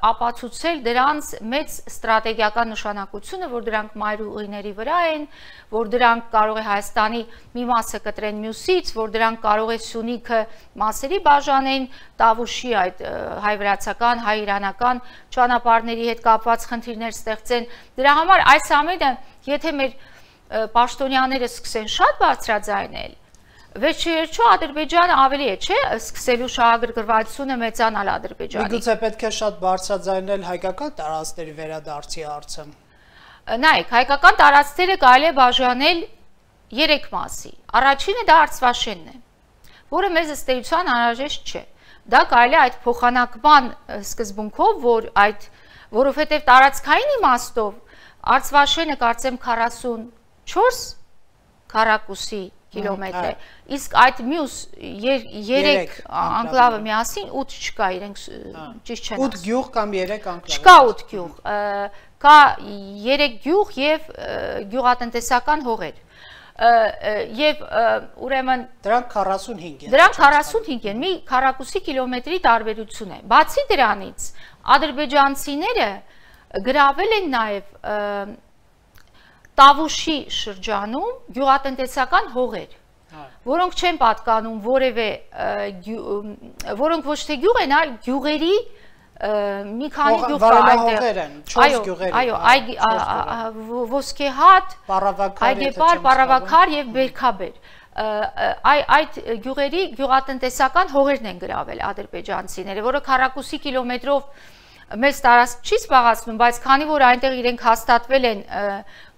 ապացուցել դրանց մեծ ստրատեգիական նշանակությունը, որ դրանք մայրուղիների վրա են, որ դրանք կարող է Հայաստանի մի մասը կտրեն մյուսից, որ դրանք կարող է Սյունիքը մասերի բաժանեն, Տավուշի այդ հայ-վրացական, հայ-իրանական ճանապարհների հետ կապված խնդիրներ ստեղծեն։ Դրա համար այս ամենը, եթե մեր պաշտոնյաները սկսեն շատ բարձրաձայնել, վերջերիչո Ադրբեջանը ավելի է, չէ, սկսելու շահագրգռվածությունը մեծանալ Ադրբեջանի։ Միգուցե պետք է շատ բարձրաձայնել հայկական տարածքների վերադարձի հարցը։ Նայեք, հայկական տարածքները կարելի է բաժանել 3 մասի։ Առաջինը դա Արցվաշենն է, որը մեզ ըստ էության անհրաժեշտ չէ։ Դա կարելի է այդ փոխանակման սկզբունքով, որովհետև տարածքային իմաստով Արցվաշենը կարծեմ 44 քառակուսի կիլոմետր է, իսկ այդ մյուս 3 անկլավը միասին 8 չկա, իրենք ճիշտ չեն ասում։ 8 գյուղ կամ 3 անկլավ։ Չկա 8 գյուղ, կա 3 գյուղ եւ գյուղատնտեսական հողեր։ Եվ ուրեմն դրանք 45 են։ Դրանք 45 են, մի քառակուսի կիլոմետրի տարբերություն է։ Բացի դրանից, ադրբեջանցիները գրավել են նաեւ Տավուշի շրջանում գյուղատնտեսական հողեր, որոնք չեն պատկանում որևէ, որոնք ոչ թե գյուղ են, այլ գյուղերի մի քանի գյուղ կա այդտեղ։ 4 գյուղեր։ Այո, Ոսկեհատ, Այգեպար, Պարավաքար եւ Բերքաբեր։ Այդ գյուղերի գյուղատնտեսական հողերն են գրավել ադրբեջանցիները, որը քառակուսի կիլոմետրով մեծ տարածք չի զբաղացնում, բայց քանի որ այնտեղ իրենք հաստատվել են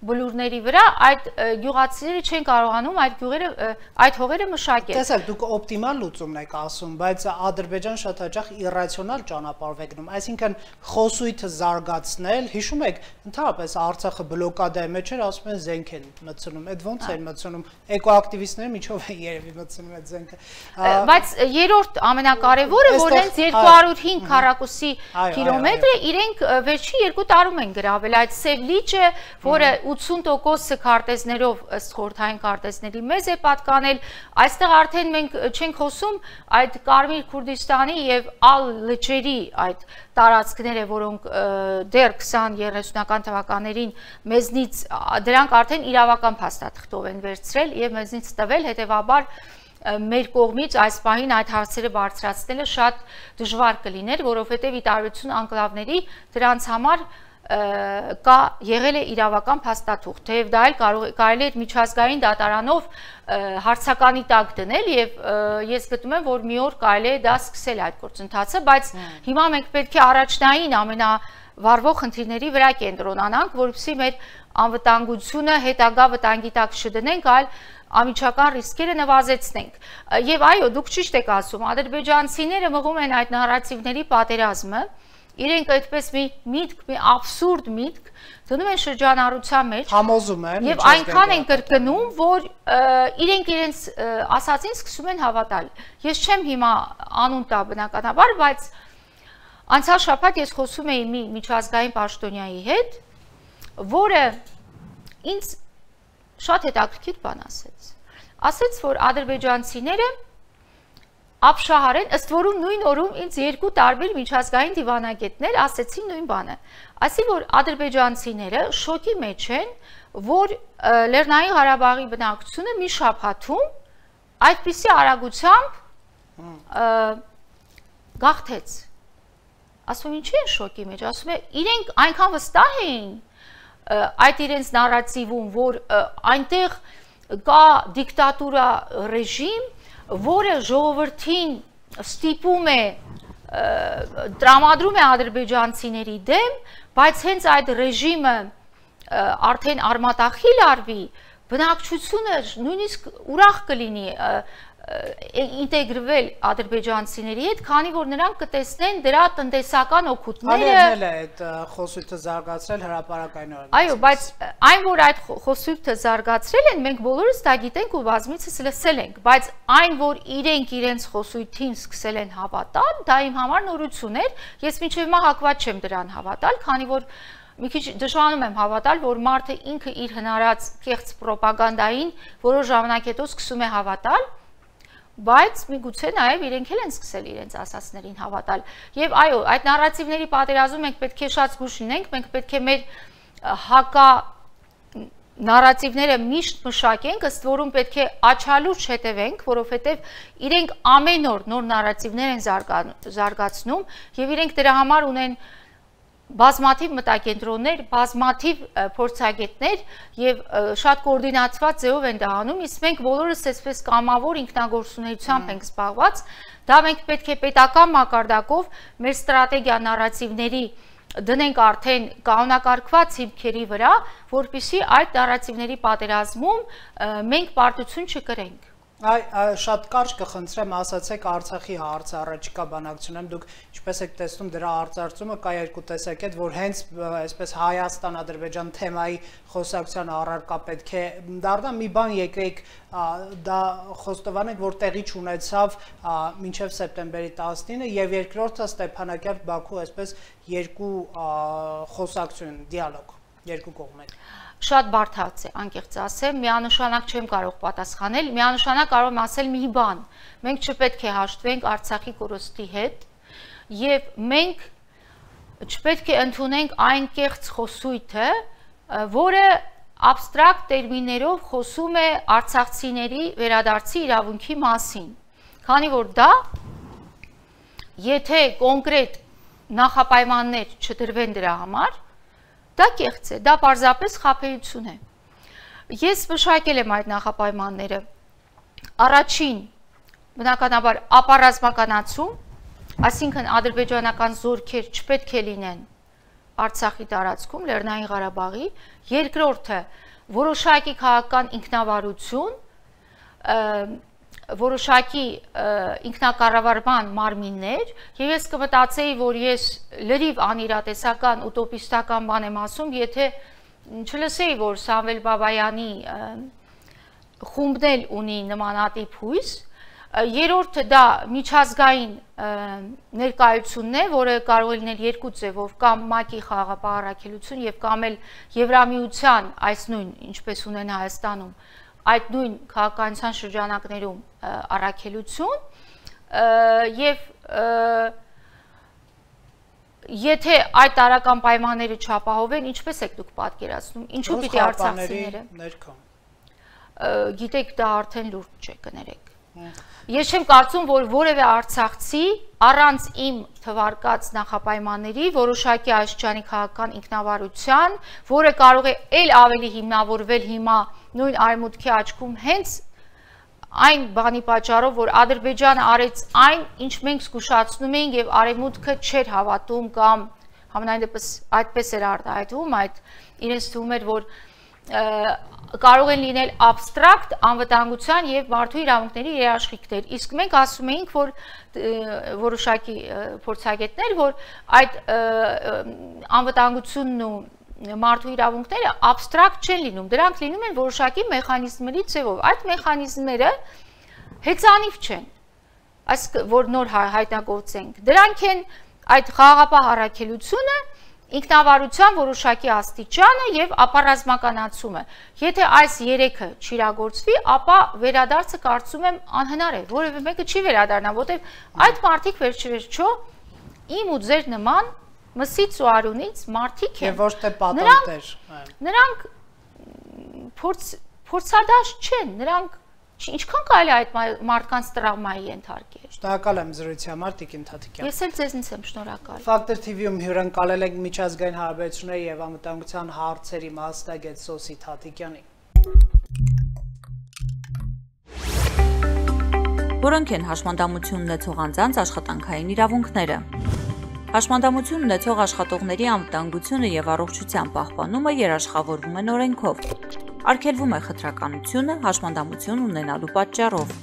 բլուրների վրա, այդ գյուղացիները չեն կարողանում այդ հողերը մշակել։ Տեսեք, դուք օպտիմալ լուծումն եք ասում, բայց Ադրբեջան շատ հաճախ իրացիոնալ ճանապարհով է գնում, այսինքն խոսույթը զարգացնել, հիշում եք, ընդհանրապես Արցախը բլոկադայի մեջ էր, ասում են զենք են մտցնում, այդ ոնց են մտցնում, էկոակտիվիստները միջով են երևի մտցնում այդ զենքը։ Բայց երրորդ ամենակարևորը, որ հենց 205 քառակուսի կիլոմետրը իրենք վերջի 2 տարում են գրավել, այդ Սև լիճը, որը 80% քարտեզներով ըստ խորհրդային քարտեզների մեզ է պատկանել, այստեղ արդեն մենք չենք խոսում այդ Կարմիր Քուրդիստանի եւ ալ լճերի այդ տարածքները, որոնք դեռ 20-30-ական թվականներին մեզնից դրանք արդեն իրավական փաստաթղթով են վերցրել եւ մեզնից տվել, հետեւաբար մեր կողմից այս պահին այդ հարցերը բարձրացնելը շատ դժվար կլիներ, որովհետեւ ի տարբերություն անկլավների դրանց համար կա եղել է իրավական փաստաթուղթ, թեև դա էլ կարելի է միջազգային դատարանով հարցականի տակ դնել եւ ես գտնում եմ, որ մի օր կարելի է դա սկսել այդ գործընթացը, բայց հիմա մենք պետք է առաջնային ամենավարվող խնդիրների վրա կենտրոնանանք, որովհետեւ մեր անվտանգությունը հետագա վտանգի տակ չդնենք, այլ ամիջական ռիսկերը նվազեցնենք։ Եվ այո, դուք ճիշտ եք ասում, ադրբեջանցիները մղում են այդ նարատիվների պատերազմը, իրենք այդպես մի միտք, մի աբսուրդ միտք դնում են շրջանառության մեջ, համոզում են եւ այնքան են կրկնում, որ իրենք իրենց ասածին սկսում են հավատալ։ Ես չեմ հիմա անուն տա բնականաբար, բայց անցյալ շաբաթ ես խոսում էի մի միջազգային պաշտոնյայի հետ, որը ինձ շատ հետաքրքիր բան ասեց։ Ասեց, որ ադրբեջանցիները ապշահարեն, ըստ որում նույն օրում ինձ 2 տարբեր միջազգային դիվանագետներ ասեցին նույն բանը։ Ասի, որ ադրբեջանցիները շոկի մեջ են, որ Լեռնային Ղարաբաղի բնակչությունը մի շաբաթում այդպիսի արագությամբ գաղթեց։ Ասում ինչի են շոկի մեջ, ասում է իրենք այնքան վստահ էին այդ իրենց նարատիվում, որ այնտեղ կա դիկտատուրա ռեժիմ, որը ժողովրդին ստիպում է տրամադրում է ադրբեջանցիների դեմ, բայց հենց այդ ռեժիմը արդեն արմատախիլ արվի, բնակչությունը նույնիսկ ուրախ կլինի ինտեգրվել ադրբեջանցիների հետ, քանի որ նրանք կտեսնեն դրա տնտեսական օգուտները։ Ալերնել է այդ խոսույթը զարգացրել հրապարակայնորեն։ Այո, բայց այն որ այդ խոսույթը զարգացրել են, մենք բոլորս դա գիտենք ու բազմիցս լսել ենք, բայց այն որ իրենք իրենց խոսույթին սկսել են հավատալ, դա իմ համար նորություն էր, ես մինչև հիմա հակված չեմ դրան հավատալ, քանի որ մի քիչ դժվարանում եմ հավատալ, որ մարդը ինքը իր հնարած կեղծ պրոպագանդային որոշ ժամանակ հետո սկսում է հավատալ, բայց միգուցե նաև իրենք էլ են սկսել իրենց ասածներին հավատալ։ Եվ այո, այդ նարատիվների պատերազմում մենք պետք է շատ զգուշ լինենք, մենք պետք է մեր հակա նարատիվները միշտ մշակենք, ըստ որում պետք է աչալուրջ հետևենք, որովհետև իրենք ամեն օր նոր նարատիվներ են զարգացնում եւ իրենք դրա համար ունեն բազմաթիվ մտակենտրոններ, բազմաթիվ փորձագետներ եւ շատ կոորդինացված ձևով են դա անում, իսկ մենք բոլորս այսպես կամավոր ինքնագործունեությամբ ենք զբաղված, դա մենք պետք է պետական մակարդակով մեր ստրատեգիա նարատիվների դնենք արդեն կանոնակարգված հիմքերի վրա, որպեսզի այդ նարատիվների պատերազմում մենք պարտություն չկրենք։ Շատ կարճ կխնդրեմ, ասացեք Արցախի հարցը առաջիկա բանակցությունում, դուք ինչպես եք տեսնում դրա արծարծումը, կա երկու տեսակետ, որ հենց այսպես Հայաստան-Ադրբեջան թեմայի խոսակցության առարկա պետք է դառնա, մի բան եկեք դա խոստովանենք, որ տեղի չունեցավ մինչև սեպտեմբերի 19-ը եւ երկրորդը Ստեփանակերտ-Բաքու այսպես երկու խոսակցություն, դիալոգ երկու կողմեր։ Շատ բարդ է, անկեղծ ասեմ, միանշանակ չեմ կարող պատասխանել, միանշանակ կարող եմ ասել մի բան, մենք չպետք է հաշտվենք Արցախի կորստի հետ եւ մենք չպետք է ընդունենք այն կեղծ խոսույթը, որը абստրակտ տերմիններով խոսում է արցախցիների վերադարձի իրավունքի մասին, քանի որ դա եթե կոնկրետ նախապայմաններ չդրվեն դրա համար, դա կեղծ է, դա պարզապես խաբեություն է։ Ես մշակել եմ այդ նախապայմանները։ Առաջին, բնականաբար, ապառազմականացում, այսինքն ադրբեջանական զորքեր չպետք է լինեն Արցախի տարածքում, Լեռնային Ղարաբաղի, երկրորդը, որոշակի քաղաքական ինքնավարություն, որոշակի ինքնակառավարման մարմիններ եւ ես կմտածեի, որ ես լրիվ անիրատեսական ուտոպիստական բան եմ ասում, եթե չլսեի, որ Սամվել Բաբայանի խումբն էլ ունի նմանատիպ հույս, երրորդը դա միջազգային ներկայությունն է, որը կարող է լինել երկու ձևով, կամ ՄԱԿ-ի խաղաղապահ առաքելություն եւ կամ էլ Եվրամիության այս նույն, ինչպես ունեն Հայաստանում, այդ նույն քաղաքականության շրջանակներում առաքելություն եւ եթե այդ տարական պայմանները չապահովեն, ինչպես եք դուք պատկերացնում, ինչու պիտի արցախցիները գիտեք, դա արդեն լուրջ չէ, կներեք։ Ես չեմ կարծում, որ որևէ արցախցի առանց իմ թվարկած նախապայմանների որոշակի Աշճանի քաղաքական ինքնավարության, որը կարող է ել ավելի հիմնավորվել հիմա նույն արևմուտքի աչքում հենց այն բանի պատճառով, որ Ադրբեջանը արեց այն, ինչ մենք զգուշացնում էինք եւ արևմուտքը չէր հավատում կամ համենայն դեպս այդպես էր արտահայտվում, այդ իրենց թվում էր, որ կարող են լինել абստրակտ անվտանգության եւ մարդու իրավունքների երաշխիքներ, իսկ մենք ասում էինք, որ որոշակի փորձագետներ, որ այդ անվտանգությունն ու մարդու իրավունքները абստրակտ չեն լինում, դրանք լինում են որոշակի մեխանիզմների ձևով, այդ մեխանիզմները հեծանիվ չեն, այսինքն որ նոր հայտնագործենք, դրանք են այդ խաղաղապահ առաքելությունը, ինքնավարության որոշակի աստիճանը եւ ապառազմականացումը։ Եթե այս երեքը չիրագործվի, ապա վերադարձը կարծում եմ անհնար է, որևէ մեկը չի վերադառնա, որտեղ այդ մարդիկ վերջիվերջո իմ ու ձեր նման մսից ու արունից մարդիկ են։ Եվ ոչ թե պատանտեր։ Նրանք փորձադաշտ չեն, նրանք ինչքան կարելի է այդ մարդկանց տրավմայի ենթարկել։ Շնորհակալ եմ զրույցի համար, Տիկին Թաթիկյան։ Ես էլ ձեզնից եմ շնորհակալ։ Factor TV-ում հյուրընկալել ենք միջազգային հարաբերությունների եւ անվտանգության հարցերի մասնագետ Սոսի Թաթիկյանին։ Որոնք են հաշմանդամություն ունեցող անձանց աշխատանքային իրավունքները։ Հաշմանդամություն ունեցող աշխատողների անվտանգությունը եւ առողջության պահպանումը երաշխավորվում են օրենքով։ Արգելվում է խտրականությունը հաշմանդամություն ունենալու պատճառով։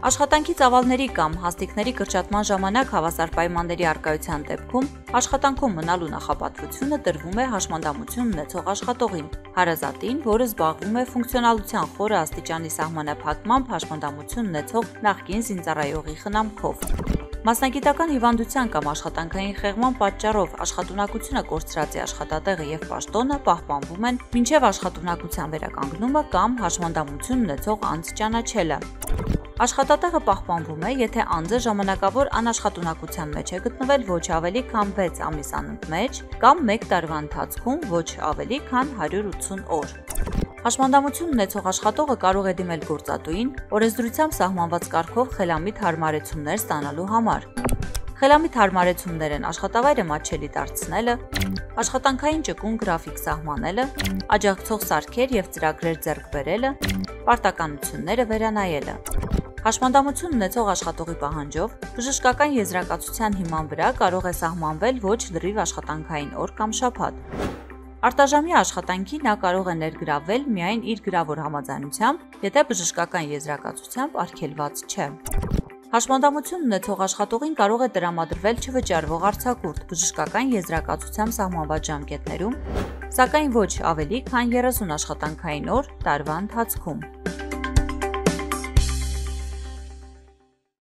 Աշխատանքի ծավալների կամ հաստիկների կրճատման ժամանակ հավասար պայմանների առկայության դեպքում աշխատանքում մնալու նախապատվությունը տրվում է հաշմանդամություն ունեցող աշխատողին, հարազատին, որը զբաղվում է ֆունկցիոնալության խորը աստիճանի սահմանափակմամբ հաշմանդամություն ունեցող նախկին զինծառայողի խնամքով։ Մասնագիտական հիվանդության կամ աշխատանքային խեղման պատճառով աշխատունակությունը կորցրածի աշխատատեղը եւ պաշտոնը պահպանվում են մինչեւ աշխատունակության վերականգնումը կամ հաշմանդամություն ունեցող անձ ճանաչելը։ Աշխատատեղը պահպանվում է, եթե անձը ժամանակավոր անաշխատունակության մեջ է գտնվել ոչ ավելի քան 6 ամիս անընդմեջ կամ 1 տարվա ընթացքում ոչ ավելի քան 180 օր։ Հաշմանդամություն ունեցող աշխատողը կարող է դիմել գործատուին օրենսդրությամբ սահմանված կարգով խելամիտ հարմարեցումներ ստանալու համար։ Խելամիտ հարմարեցումներ են աշխատավայրը մատչելի դարձնելը, աշխատանքային ճկուն գրաֆիկ սահմանելը, աջակցող սարքեր եւ ծրագրեր ձեռք բերելը, պարտականությունները վերանայելը։ Հաշմանդամություն ունեցող աշխատողի պահանջով բժշկական եզրակացության հիման վրա կարող է սահմանվել ոչ լրիվ աշխատանքային օր կամ շաբաթ։ Արտաժամյա աշխատանքի նա կարող է ներգրավվել միայն իր գրավոր համաձայնությամբ, եթե բժշկական եզրակացությամբ արգելված չէ։ Հաշմանդամություն ունեցող աշխատողին կարող է տրամադրվել չվճարվող արձակուրդ բժշկական եզրակացությամբ սահմանված ժամկետներում, սակայն ոչ ավելի քան 30 աշխատանքային օր տարվա ընթացքում։